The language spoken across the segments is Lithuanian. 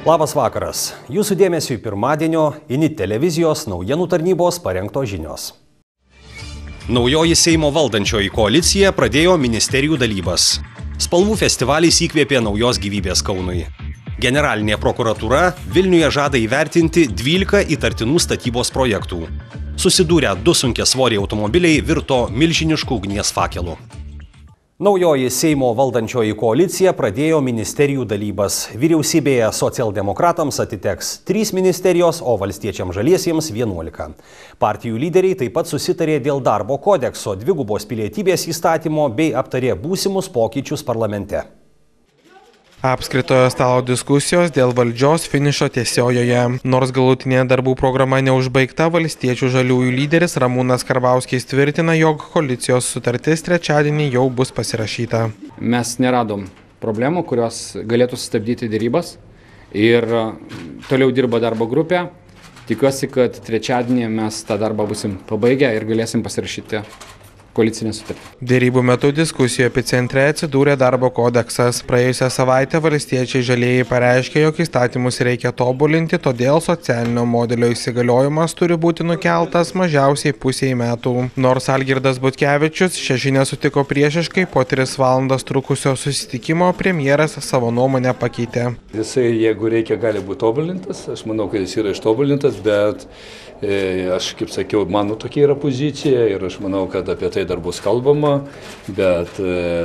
Labas vakaras. Jūsų dėmesiui pirmadienio INIT televizijos naujienų tarnybos parengtos žinios. Naujoji Seimo valdančioji koalicija pradėjo ministerijų dalybas. Spalvų festivalis įkvėpė naujos gyvybės Kaunui. Generalinė prokuratūra Vilniuje žada įvertinti 12 įtartinų statybos projektų. Susidūrę 2 sunkiasvoriai automobiliai virto milžiniškų ugnies fakelų. Naujoji Seimo valdančioji koalicija pradėjo ministerijų dalybas. Vyriausybėje socialdemokratams atiteks 3 ministerijos, o valstiečiams žaliesiems 11. Partijų lyderiai taip pat susitarė dėl darbo kodekso, dvigubos pilietybės įstatymo bei aptarė būsimus pokyčius parlamente. Apskritojo stalo diskusijos dėl valdžios finišo tiesiojoje. Nors galutinė darbų programa neužbaigta, valstiečių žaliųjų lyderis Ramūnas Karbauskis tvirtina, jog koalicijos sutartis trečiadienį jau bus pasirašyta. Mes neradom problemų, kurios galėtų sustabdyti dėrybas ir toliau dirba darbo grupė. Tikiuosi, kad trečiadienį mes tą darbą busim pabaigę ir galėsim pasirašyti koalicinę sutartį. Dėrybų metu diskusijų epicentre atsidūrė darbo kodeksas. Praėjusią savaitę valstiečiai žalieji pareiškė, jog įstatymus reikia tobulinti, todėl socialinio modelio įsigaliojimas turi būti nukeltas mažiausiai pusiai metų. Nors Algirdas Butkevičius šią žinią sutiko priešiškai, po 3 valandas trukusio susitikimo premjeras savo nuomonę pakeitė. Jisai, jeigu reikia, gali būti tobulintas. Aš manau, kad jis yra ištobulintas, bet aš, kaip sakiau, mano tokia yra pozicija ir aš manau, kad apie tai dar bus kalbama, bet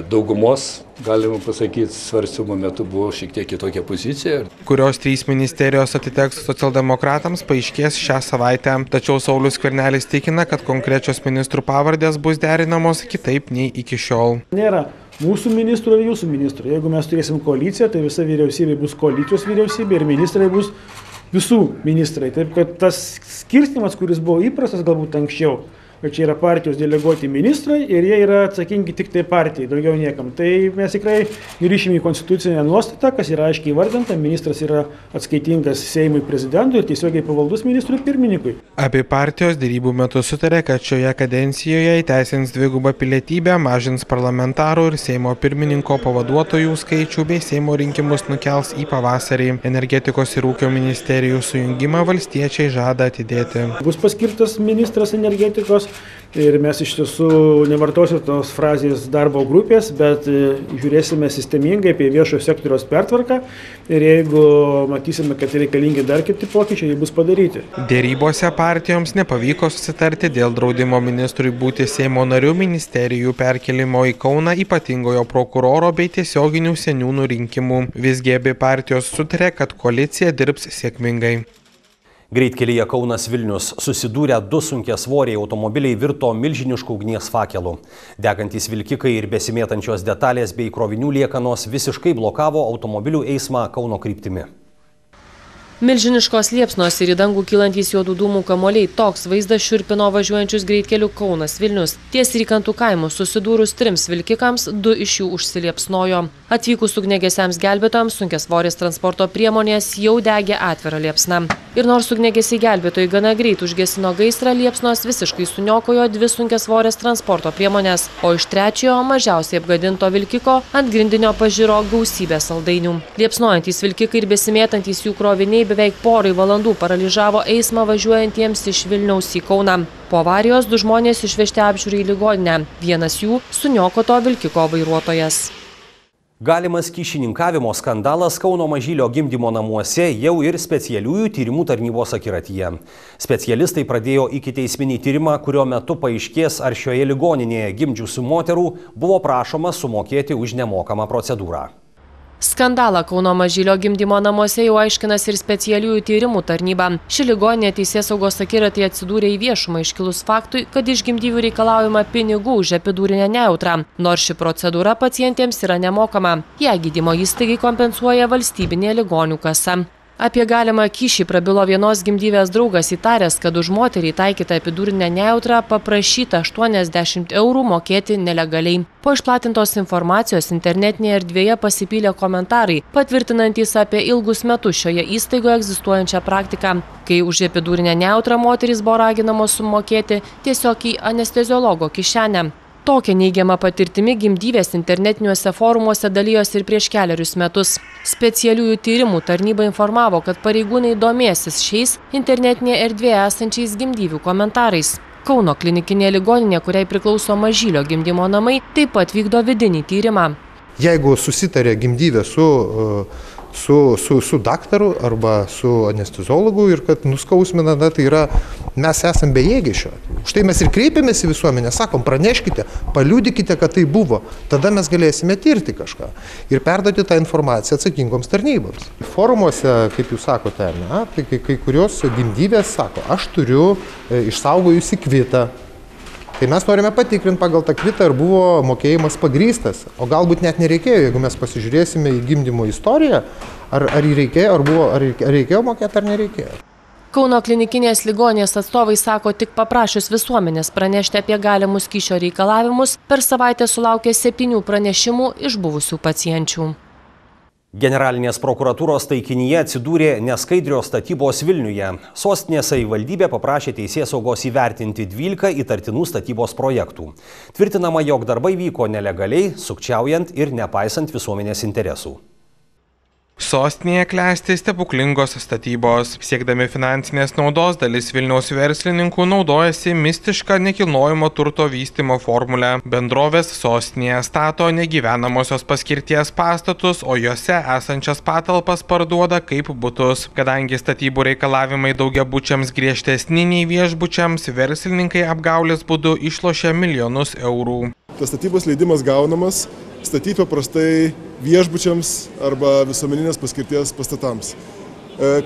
daugumos, galima pasakyti, svarstymo metu buvo šiek tiek kitokia pozicija. Kurios 3 ministerijos atiteks socialdemokratams, paaiškės šią savaitę. Tačiau Saulius Skvernelis tikina, kad konkrečios ministrų pavardės bus derinamos kitaip nei iki šiol. Nėra mūsų ministrų ir jūsų ministrų. Jeigu mes turėsim koaliciją, tai visa vyriausybė bus koalicijos vyriausybė ir ministrai bus visų ministrai. Taip, kad tas skirstymas, kuris buvo įprastas galbūt anksčiau, kad čia yra partijos deleguoti ministrai ir jie yra atsakingi tik tai partijai, daugiau niekam. Tai mes tikrai grįšime į konstitucinę nuostatą, kas yra aiškiai įvardinta, ministras yra atskaitingas Seimui prezidentui ir tiesiogiai pavaldus ministrui pirmininkui. Abi partijos dėrybų metu sutarė, kad šioje kadencijoje įteisins dvigubą pilietybę, mažins parlamentarų ir Seimo pirmininko pavaduotojų skaičių bei Seimo rinkimus nukels į pavasarį. Energetikos ir ūkio ministerijų sujungimą valstiečiai žada atidėti. Bus paskirtas ministras energetikos ir mes iš tiesų nevartosiu tos frazės darbo grupės, bet žiūrėsime sistemingai apie viešojo sektoriaus pertvarką ir jeigu matysime, kad reikalingi dar kiti pokyčiai, jie bus padaryti. Dėrybose partijoms nepavyko susitarti dėl draudimo ministrui būti Seimo narių, ministerijų perkelimo į Kauną, ypatingojo prokuroro bei tiesioginių seniūnų rinkimų. Visgi abi partijos sutarė, kad koalicija dirbs sėkmingai. Greitkelyje Kaunas Vilnius susidūrę 2 sunkiasvoriai automobiliai virto milžiniškų ugnies fakelų. Degantys vilkikai ir besimėtančios detalės bei krovinių liekanos visiškai blokavo automobilių eismą Kauno kryptimi. Milžiniškos liepsnos ir į dangų kylantys juodų dūmų kamuoliai, toks vaizdas šiurpino važiuojančius greitkeliu Kaunas Vilnius. Ties Rykantų kaimų susidūrus 3 vilkikams, 2 iš jų užsiliepsnojo. Atvykus ugniagesiams gelbėtojams sunkiasvorės transporto priemonės jau degė atvirą liepsną. Ir nors ugniagesiai gelbėtojai gana greit užgesino gaisrą, liepsnos visiškai suniokojo 2 sunkiasvorės transporto priemonės, o iš 3 mažiausiai apgadinto vilkiko ant grindinio pažiro gausybė saldainių. Liepsnojantys vilkikai ir besimėtantys jų kroviniai beveik porai valandų paralyžavo eismą važiuojantiems iš Vilniaus į Kauną. Po avarijos 2 žmonės išvežti apžiūrai į ligoninę. Vienas jų suniokoto vilkiko vairuotojas. Galimas kyšininkavimo skandalas Kauno Mažylio gimdymo namuose jau ir specialiųjų tyrimų tarnybos akiratyje. Specialistai pradėjo ikiteisminį tyrimą, kurio metu paaiškės, ar šioje ligoninėje gimdžiusių moterų buvo prašoma sumokėti už nemokamą procedūrą. Skandalą Kauno Mažylio gimdymo namuose jau aiškinas ir specialiųjų tyrimų tarnyba. Ši ligoninė teisėsaugos akiratyje atsidūrė į viešumą iškilus faktui, kad iš gimdyvių reikalaujama pinigų už epidurinę nejautrą, nors ši procedūra pacientėms yra nemokama. Ją gydymo įstaigai kompensuoja valstybinė ligonių kasa. Apie galimą kyšį prabilo vienos gimdyvės draugas, įtaręs, kad už moterį taikytą epidurinę nejautrą paprašyta 80 eurų mokėti nelegaliai. Po išplatintos informacijos internetinėje erdvėje pasipylė komentarai, patvirtinantys apie ilgus metus šioje įstaigoje egzistuojančią praktiką, kai už epidurinę nejautrą moterys buvo raginamos sumokėti tiesiog į anesteziologo kišenę. Tokia neigiama patirtimi gimdyvės internetiniuose forumuose dalijosi ir prieš kelerius metus. Specialiųjų tyrimų tarnyba informavo, kad pareigūnai domėsis šiais internetinėje erdvėje esančiais gimdyvių komentarais. Kauno klinikinė ligoninė, kuriai priklauso Mažylio gimdymo namai, taip pat vykdo vidinį tyrimą. Jeigu susitarė gimdyvė su daktaru arba su anesteziologu ir kad nuskausmina, tai yra, mes esam bejėgiai šio. Štai mes ir kreipiamės į visuomenę, sakom, praneškite, paliudykite, kad tai buvo. Tada mes galėsime tirti kažką ir perduoti tą informaciją atsakingoms tarnyboms. Forumuose, kaip jūs sakote, tai kai kurios gimdyvės sako, aš turiu išsaugojusi kvitą. Tai mes norime patikrinti pagal tą kvitą, ar buvo mokėjimas pagrįstas, o galbūt net nereikėjo, jeigu mes pasižiūrėsime į gimdymo istoriją, ar reikėjo mokėti ar nereikėjo. Kauno klinikinės ligoninės atstovai sako, tik paprašius visuomenės pranešti apie galimus kyšio reikalavimus, per savaitę sulaukė 7 pranešimų iš buvusių pacienčių. Generalinės prokuratūros taikinyje atsidūrė neskaidrios statybos Vilniuje. Sostinės savivaldybė paprašė teisėsaugos įvertinti 12 įtartinų statybos projektų. Tvirtinama, jog darbai vyko nelegaliai, sukčiaujant ir nepaisant visuomenės interesų. Sostinėje klesti stebuklingos statybos. Siekdami finansinės naudos, dalis Vilniaus verslininkų naudojasi mistišką nekilnojamo turto vystymo formulę. Bendrovės sostinėje stato negyvenamosios paskirties pastatus, o juose esančias patalpas parduoda kaip butus. Kadangi statybų reikalavimai daugiabučiams griežtesni nei viešbučiams, verslininkai apgaulės būdu išlošia milijonus eurų. Tas statybos leidimas gaunamas statyti paprastai viešbučiams arba visuomeninės paskirties pastatams.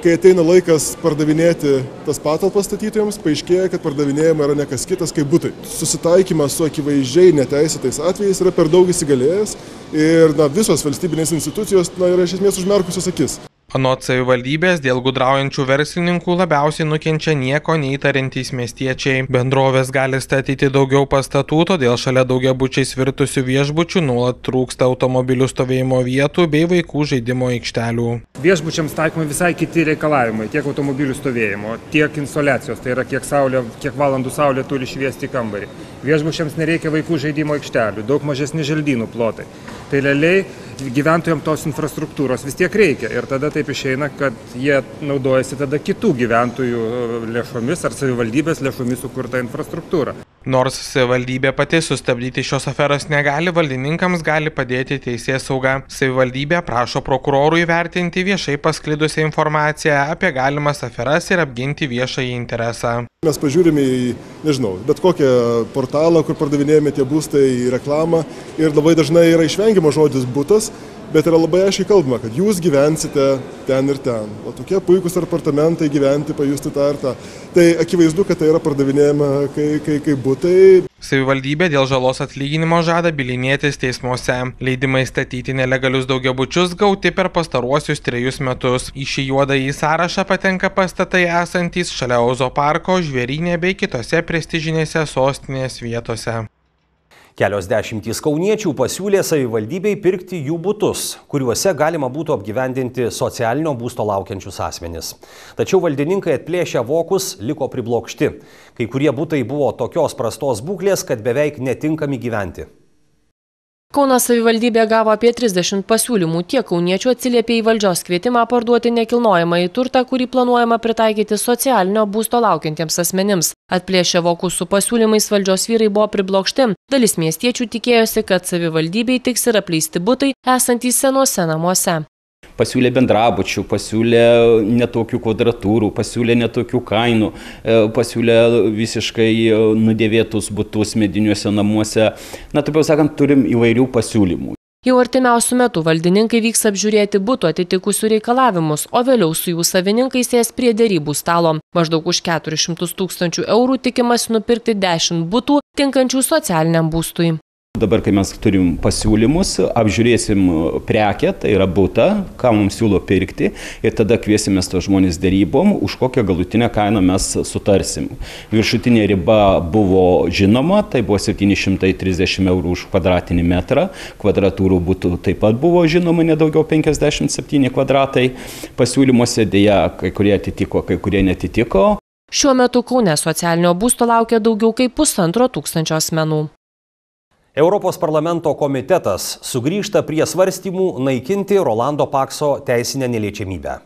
Kai ateina laikas pardavinėti tas patalpas statytojams, paaiškėja, kad pardavinėjama yra ne kas kitas kaip butai. Susitaikymas su akivaizdžiai neteisėtais atvejais yra per daug įsigalėjęs ir visos valstybinės institucijos yra iš esmės užmerkusios akis. Anot savivaldybės, dėl gudraujančių verslininkų labiausiai nukenčia nieko neįtariantys miestiečiai. Bendrovės gali statyti daugiau pastatų, todėl šalia daugiabučiais virtusių viešbučių nuolat trūksta automobilių stovėjimo vietų bei vaikų žaidimo aikštelių. Viešbučiams taikomi visai kiti reikalavimai, tiek automobilių stovėjimo, tiek insoliacijos, tai yra kiek valandų saulė turi šviesti kambarį. Viešbučiams nereikia vaikų žaidimo aikštelių, daug mažesni želdynų plotai. Tai realiai gyventojams tos infrastruktūros vis tiek reikia ir tada taip išeina, kad jie naudojasi tada kitų gyventojų lėšomis ar savivaldybės lėšomis sukurta infrastruktūra. Nors savivaldybė pati sustabdyti šios aferos negali, valdininkams gali padėti teisėsauga. Savivaldybė prašo prokurorų įvertinti viešai pasklidusią informaciją apie galimas aferas ir apginti viešąjį interesą. Mes pažiūrime į, bet kokią portalą, kur pardavinėjame tie būstai, į reklamą ir labai dažnai yra išvengiamas žodis butas, bet yra labai aiškiai kalbama, kad jūs gyvensite ten ir ten. O tokie puikūs apartamentai gyventi, pajusti tą ir tą. Tai akivaizdu, kad tai yra pardavinėjama kaip butai. Savivaldybė dėl žalos atlyginimo žada bylinėtis teismuose. Leidimai statyti nelegalius daugiabučius gauti per pastaruosius 3 metus. Į šį juodąjį sąrašą patenka pastatai esantys šalia Ozo parko, Žvėryne bei kitose prestižinėse sostinės vietose. Kelios dešimtys kauniečių pasiūlė savivaldybei pirkti jų butus, kuriuose galima būtų apgyvendinti socialinio būsto laukiančius asmenis. Tačiau valdininkai atplėšę vokus liko priblokšti. Kai kurie butai buvo tokios prastos būklės, kad beveik netinkami gyventi. Kauno savivaldybė gavo apie 30 pasiūlymų. Tiek kauniečių atsiliepė į valdžios kvietimą parduoti nekilnojamąjį turtą, kurį planuojama pritaikyti socialinio būsto laukiantiems asmenims. Atplėšę vokus su pasiūlymais valdžios vyrai buvo priblokšti. Dalis miestiečių tikėjosi, kad savivaldybei tiks ir apleisti butai esantys senuose namuose. Pasiūlė bendrabučių, pasiūlė netokių kvadratūrų, pasiūlė netokių kainų, pasiūlė visiškai nudėvėtus butus mediniuose namuose. Taip jau sakant, turim įvairių pasiūlymų. Jau artimiausiu metu valdininkai vyks apžiūrėti butų atitikusių reikalavimus, o vėliau su jų savininkais sės prie derybų stalo. Maždaug už 400 000 eurų tikimasi nupirkti 10 butų tinkančių socialiniam būstui. Dabar, kai mes turim pasiūlymus, apžiūrėsim prekę, tai yra butą, ką mums siūlo pirkti ir tada kviesimės tos žmonės derybom, už kokią galutinę kainą mes sutarsim. Viršutinė riba buvo žinoma, tai buvo 730 eurų už kvadratinį metrą, kvadratūrų būtų taip pat buvo žinoma, nedaugiau 57 kvadratai. Pasiūlymuose dėja kai kurie atitiko, kai kurie netitiko. Šiuo metu Kaune socialinio būsto laukia daugiau kaip 1,5 tūkstančio asmenų. Europos parlamento komitetas sugrįžta prie svarstymų naikinti Rolando Pakso teisinę neliečiamybę.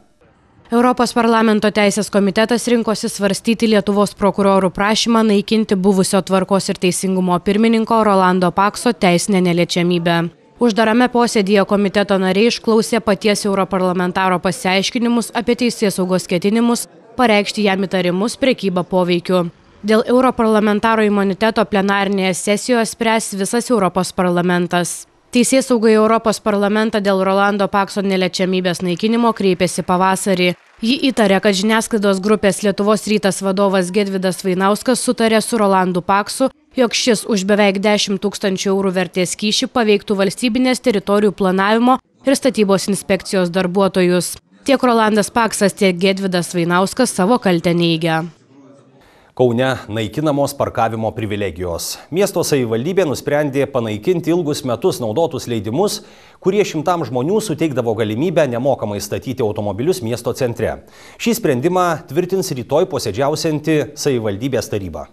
Europos parlamento teisės komitetas rinkosi svarstyti Lietuvos prokurorų prašymą naikinti buvusio tvarkos ir teisingumo pirmininko Rolando Pakso teisinę neliečiamybę. Uždarame posėdyje komiteto nariai išklausė paties europarlamentaro pasiaiškinimus apie teisėsaugos ketinimus pareikšti jam įtarimus prekybą poveikiu. Dėl europarlamentaro imuniteto plenarinėje sesijoje spręs visas Europos parlamentas. Teisėsauga į Europos parlamentą dėl Rolando Pakso neliečiamybės naikinimo kreipėsi pavasarį. Ji įtarė, kad žiniasklaidos grupės Lietuvos rytas vadovas Gedvydas Vainauskas sutarė su Rolandu Paksu, jog šis už beveik 10 000 eurų vertės kyšį paveiktų valstybinės teritorijų planavimo ir statybos inspekcijos darbuotojus. Tiek Rolandas Paksas, tiek Gedvydas Vainauskas savo kaltę neigia. Kaune naikinamos parkavimo privilegijos. Miesto savivaldybė nusprendė panaikinti ilgus metus naudotus leidimus, kurie šimtam žmonių suteikdavo galimybę nemokamai statyti automobilius miesto centre. Šį sprendimą tvirtins rytoj posėdžiausianti savivaldybės taryba.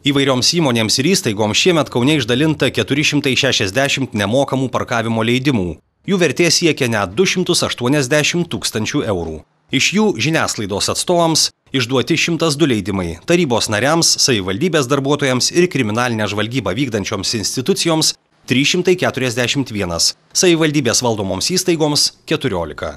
Įvairioms įmonėms ir įstaigoms šiemet Kaune išdalinta 460 nemokamų parkavimo leidimų. Jų vertė siekia net 280 000 eurų. Iš jų žiniasklaidos atstovams išduoti 102 leidimai, tarybos nariams, savivaldybės darbuotojams ir kriminalinę žvalgybą vykdančioms institucijoms 341, savivaldybės valdomoms įstaigoms 14.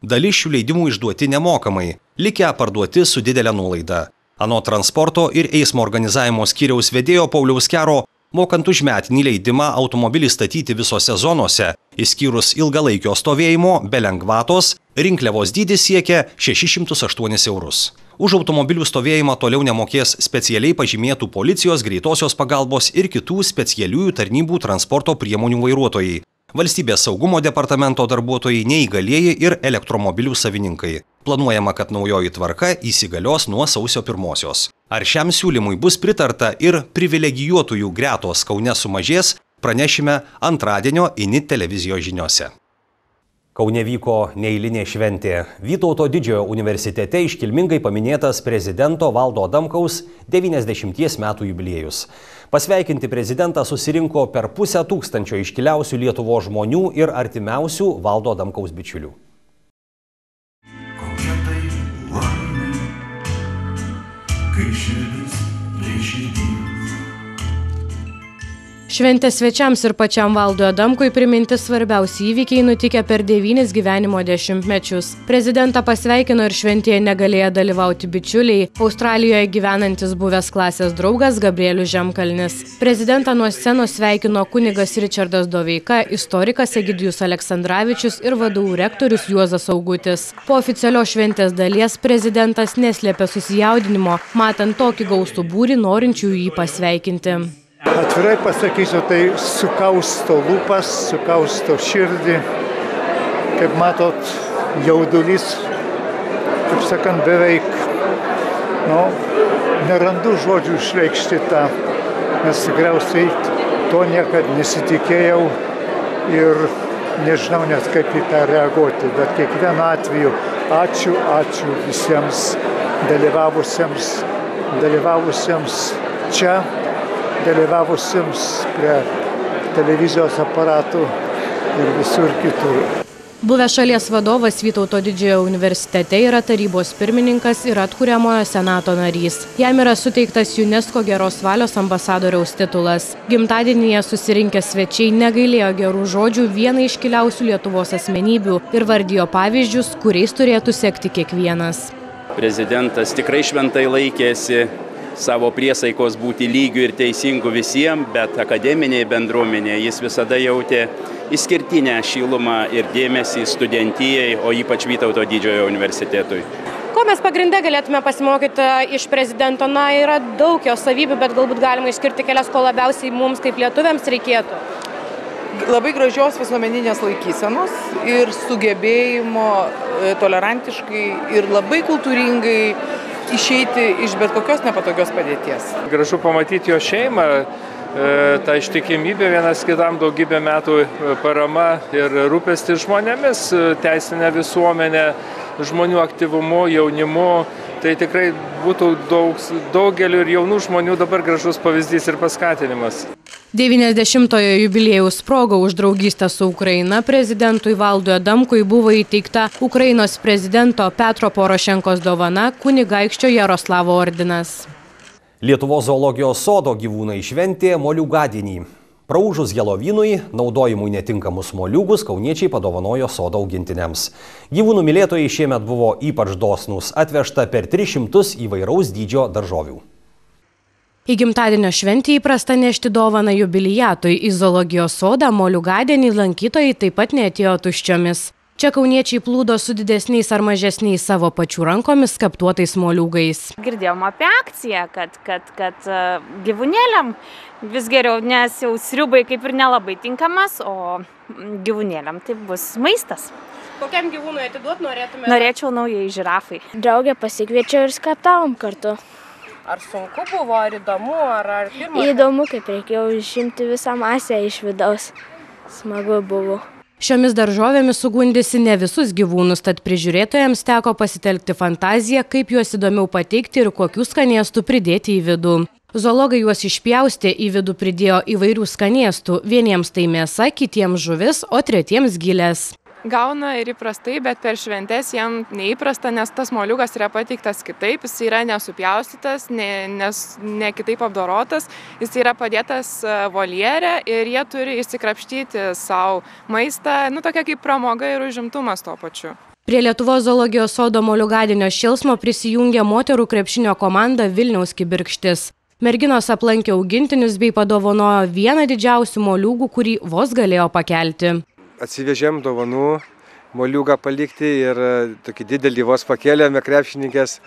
Dalis šių leidimų išduoti nemokamai, likę parduoti su didelė nuolaida. Anot transporto ir eismo organizavimo skyriaus vedėjo Pauliaus Kero, mokant už metinį leidimą automobilį statyti visose zonose, išskyrus ilgalaikio stovėjimo be lengvatos, rinkliavos dydis siekia 608 eurus. Už automobilių stovėjimą toliau nemokės specialiai pažymėtų policijos, greitosios pagalbos ir kitų specialiųjų tarnybų transporto priemonių vairuotojai, Valstybės saugumo departamento darbuotojai, neįgalieji ir elektromobilių savininkai. Planuojama, kad naujoji tvarka įsigalios nuo sausio 1. Ar šiam siūlymui bus pritarta ir privilegijuotųjų gretos Kaune sumažės, pranešime antradienio INIT televizijos žiniose. Kaune vyko neeilinė šventė. Vytauto Didžiojo universitete iškilmingai paminėtas prezidento Valdo Adamkaus 90 metų jubiliejus. Pasveikinti prezidentą susirinko per 500 iškiliausių Lietuvos žmonių ir artimiausių Valdo Adamkaus bičiulių. Kokia tai laimė, kai širdis prie širdies. Šventės svečiams ir pačiam Valdui Adamkui priminti svarbiausi įvykiai nutikę per 9 gyvenimo dešimtmečius. Prezidentą pasveikino ir šventėje negalėjo dalyvauti bičiuliai, Australijoje gyvenantis buvęs klasės draugas Gabrielius Žemkalnis. Prezidentą nuo scenos sveikino kunigas Ričardas Doveika, istorikas Egidijus Aleksandravičius ir VDU rektorius Juozas Augutis. Po oficialios šventės dalies prezidentas neslėpė susijaudinimo, matant tokį gausų būrį norinčių jį pasveikinti. Atvirai pasakysiu, tai sukausto lūpas, sukausto širdį. Kaip matot, jaudulys, kaip sakant, beveik, nerandu žodžių išreikšti tą, nes tikriausiai to niekad nesitikėjau ir nežinau net kaip į tą reaguoti. Bet kiekvienu atveju ačiū visiems dalyvavusiems čia, dalyvavusiems prie televizijos aparatų ir visur kitur. Buvęs šalies vadovas Vytauto Didžiojo universitete yra tarybos pirmininkas ir atkuriamojo senato narys. Jam yra suteiktas UNESCO geros valios ambasadoriaus titulas. Gimtadienyje susirinkę svečiai negailėjo gerų žodžių vienai iškiliausių Lietuvos asmenybių ir vardijo pavyzdžius, kuriais turėtų sekti kiekvienas. Prezidentas tikrai šventai laikėsi savo priesaikos būti lygiu ir teisingu visiems, bet akademinėje bendruomenėje jis visada jautė išskirtinę šilumą ir dėmesį studentijai, o ypač Vytauto Didžiojo universitetui. Ko mes pagrinde galėtume pasimokyti iš prezidento? Yra daug jo savybių, bet galbūt galima išskirti kelias, ko labiausiai mums kaip lietuviams reikėtų. Labai gražios visuomeninės laikysenos ir sugebėjimo tolerantiškai ir labai kultūringai išeiti iš bet kokios nepatogios padėties. Gražu pamatyti jo šeimą, ta ištikimybė vienas kitam, daugybę metų parama ir rūpestis žmonėmis, teisinė visuomenė, žmonių aktyvumu, jaunimu. Tai tikrai būtų daugeliu ir jaunų žmonių dabar gražus pavyzdys ir paskatinimas. 90-ojo jubiliejaus proga už draugystę su Ukraina prezidentui Valdui Adamkui buvo įteikta Ukrainos prezidento Petro Porošenkos dovana kunigaikščio Jaroslavo ordinas. Lietuvos zoologijos sodo gyvūnai šventė moliūgadienį. Praūžus Helovynui, naudojimui netinkamus moliūgus kauniečiai padovanojo sodo augintiniams. Gyvūnų mylėtojai šiemet buvo ypač dosnūs, atvežta per 300 įvairaus dydžio daržovių. Į gimtadienio šventį įprasta nešti dovaną jubiliatui. Į zoologijos sodą moliūgadienį lankytojai taip pat neatėjo tuščiomis. Čia kauniečiai plūdo su didesniais ar mažesniais savo pačių rankomis skaptuotais moliūgais. Girdėjom apie akciją, kad gyvūnėliam vis geriau, nes jau sriubai kaip ir nelabai tinkamas, o gyvūnėliam tai bus maistas. Kokiam gyvūnui atiduot norėtumėte? Norėčiau naujai žirafai. Draugę pasikviečiau ir skaptavom kartu. Ar sunku buvo, ar įdomu, ar pirmas? Įdomu, kaip reikėjo išimti visą masę iš vidaus. Smagu buvo. Šiomis daržovėmis sugundysi ne visus gyvūnus, tad prižiūrėtojams teko pasitelkti fantaziją, kaip juos įdomiau pateikti ir kokių skanėstų pridėti į vidų. Zoologai juos išpjaustė, į vidų pridėjo įvairių skanėstų. Vieniems tai mėsa, kitiems žuvis, o tretiems gilės. Gauna ir įprastai, bet per šventes jam neįprasta, nes tas moliūgas yra pateiktas kitaip, jis yra nesupjaustytas, ne kitaip apdorotas, jis yra padėtas voljere ir jie turi įsikrapštyti savo maistą, tokia kaip pramoga ir užimtumas tuo pačiu. Prie Lietuvos zoologijos sodo moliūgadienio šėlsmo prisijungė moterų krepšinio komanda Vilniaus Kibirkštis. Merginos aplankė augintinius bei padovanojo vieną didžiausių moliūgų, kurį vos galėjo pakelti. Atsivežėm dovanų, moliūgą palikti ir tokį didelį vos pakėlėme krepšininkės.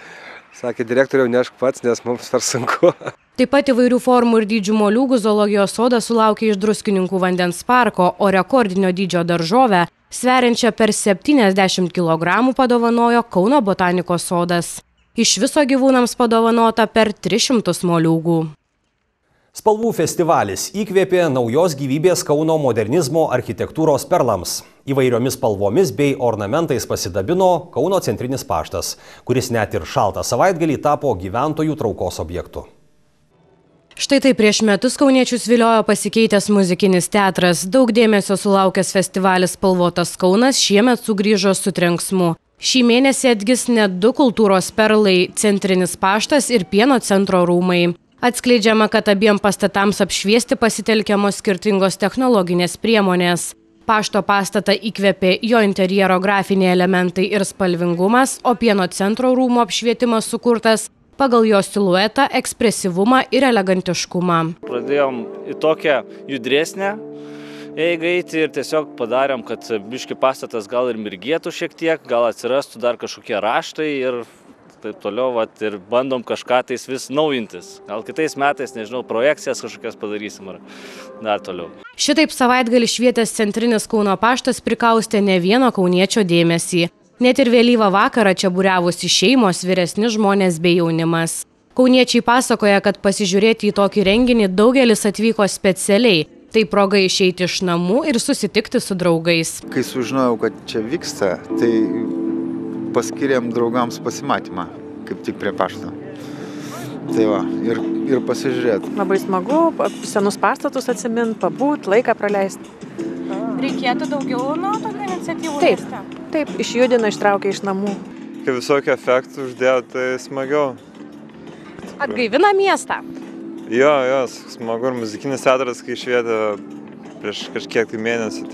Sakė, direktoriau, nešk pats, nes mums per sunku. Taip pat įvairių formų ir dydžių moliūgų zoologijos sodas sulaukė iš Druskininkų vandens parko, o rekordinio dydžio daržovę, sveriančią per 70 kg, padovanojo Kauno botanikos sodas. Iš viso gyvūnams padovanota per 300 moliūgų. Spalvų festivalis įkvėpė naujos gyvybės Kauno modernizmo architektūros perlams. Įvairiomis spalvomis bei ornamentais pasidabino Kauno centrinis paštas, kuris net ir šaltą savaitgalį tapo gyventojų traukos objektu. Štai tai prieš metus kauniečius viliojo pasikeitęs muzikinis teatras. Daug dėmesio sulaukęs festivalis Spalvotas Kaunas šiemet sugrįžo su trenksmu. Šį mėnesį atgis net 2 kultūros perlai – Centrinis paštas ir Pieno centro rūmai. Atskleidžiama, kad abiem pastatams apšviesti pasitelkiamos skirtingos technologinės priemonės. Pašto pastatą įkvėpė jo interjero grafiniai elementai ir spalvingumas, o Pieno centro rūmų apšvietimas sukurtas pagal jo siluetą, ekspresyvumą ir elegantiškumą. Pradėjom į tokią judresnę eigą eiti ir tiesiog padarėm, kad biški pastatas gal ir mirgėtų šiek tiek, gal atsirastų dar kažkokie raštai ir taip toliau, ir bandom kažką tais vis naujintis. Gal kitais metais, nežinau, projekcijas kažkokias padarysim ar dar toliau. Šitaip savaitgalį švietęs Centrinis Kauno paštas prikaustė ne vieno kauniečio dėmesį. Net ir vėlyvą vakarą čia būriavosi šeimos, vyresni žmonės bei jaunimas. Kauniečiai pasakoja, kad pasižiūrėti į tokį renginį daugelis atvyko specialiai. Tai proga išeiti iš namų ir susitikti su draugais. Kai sužinojau, kad čia vyksta, tai paskiriam draugams pasimatymą, kaip tik prie pašto. Tai va, ir pasižiūrėti. Labai smagu, senus pastatus atsimint, pabūt, laiką praleisti. Reikėtų daugiau nuo tokių iniciatyvų? Taip, išjudina, ištraukia iš namų. Kai visokių efektų uždėjo, tai smagiau. Atgaivina miestą? Jo, smagu ir muzikinis teatras, kai švietė prieš kažkiek tai mėnesių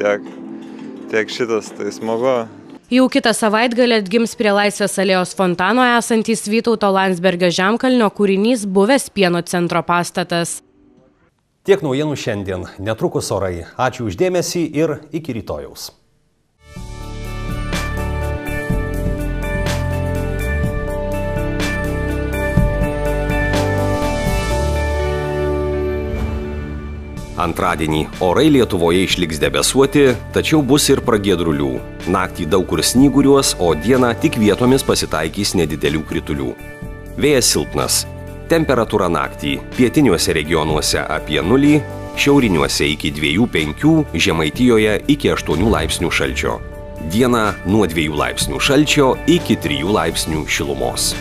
tiek šitas, tai smagu. Jau kitą savaitgalį atgims prie Laisvės alėjos fontano esantys Vytauto Landsbergio žemkalnio kūrinys buvęs Pieno centro pastatas. Tiek naujienų šiandien. Netrukus orai. Ačiū už dėmesį ir iki rytojaus. Antradienį orai Lietuvoje išliks debesuoti, tačiau bus ir pragiedrulių. Naktį daug kur snyguriuos, o dieną tik vietomis pasitaikys nedidelių kritulių. Vėjas silpnas. Temperatūra naktį pietiniuose regionuose apie 0, šiauriniuose iki 2–5, Žemaitijoje iki 8 laipsnių šalčio. Dieną nuo 2 laipsnių šalčio iki 3 laipsnių šilumos.